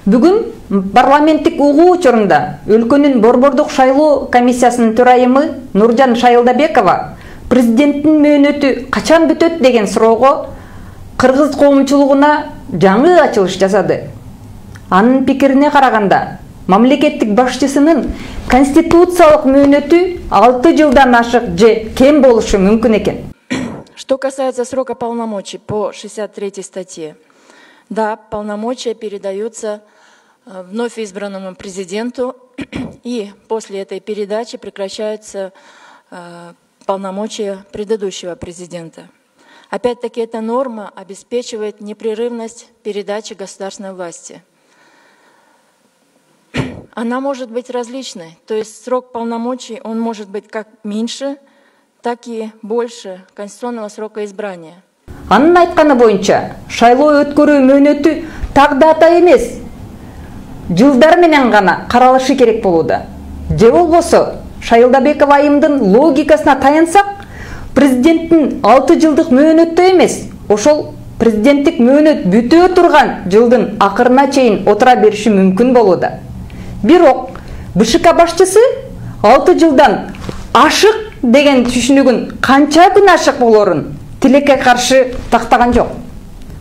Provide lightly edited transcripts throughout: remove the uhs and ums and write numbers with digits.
Бүгүн парламенттик угуу учурунда өлкөнүн борбордук шайлоо комиссиясынын төрайымы Нуржан Шайылдабекова президенттин мөөнөтү качан бүтөт деген суроого кыргыз коомчулугуна жаңы ачылыш жасады. Анын пикирине караганда, мамлекеттик башчысынын конституциялык мөөнөтү 6 жылдан ашык же кем болушу мүмкүн экен. Что касается срока полномочий по 63 статье, да, полномочия передаются вновь избранному президенту, и после этой передачи прекращаются полномочия предыдущего президента. Опять-таки, эта норма обеспечивает непрерывность передачи государственной власти. Она может быть различной, то есть срок полномочий он может быть как меньше, так и больше конституционного срока избрания. Анын айтканы боюнча, шайлоо өткөрүү мөөнөтү тагдата эмес, жылдар менен гана каралышы керек болууда. Же болбосо, Шайылдабекова айымдын логикасына таянсак, президенттин 6 жылдык мөөнөттө эмес, ошол президенттик мөөнөт бүтө турган жылдын акырына чейин отура бериши мүмкүн болууда. Бирок БШК башчысы 6 жылдан ашык деген түшүнүгүн канча күн ашык болорун тилекке каршы тактаган жок.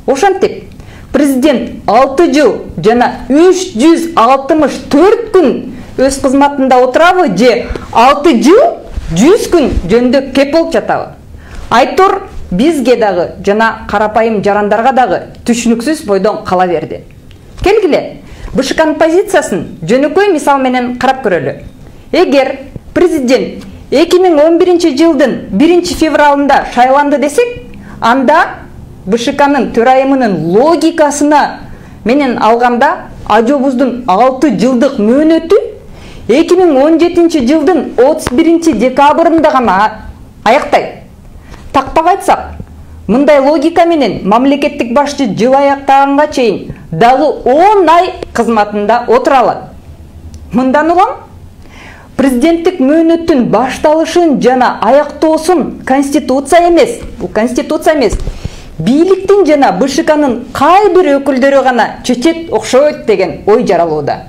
Ошентип, президент 6 жыл жана 364 күн өз кызматында отурабы же 6 жыл 100 күн жөндө кеп болуп жатабы? Айтор бизге дагы жана карапайым жарандарга дагы түшүнүксүз бойдон кала берди. Келгиле, БШКнын позициясын жөнөкөй мисал менен карап көрөлү. Эгер президент 2011 жылдын 1 февралында шайланды десек, анда БШКнын төрайымынын логикасына менен алганда ажобуздун 6 жылдык мөөнөтү 2017 жылдын 31 декабрында гана аяктайт. Тактап айтсак, мындай логика менен мамлекеттик башчы жыл аяктаганга чейин дагы 10 ай кызматында отура алат. Мындан улам президенттик мөөнөттүн башталышын жана аяктоосун конституция эмес, бийликтин жана БШКнын кай бир өкүлдөрү гана чечет окшойт деген ой жаралууда.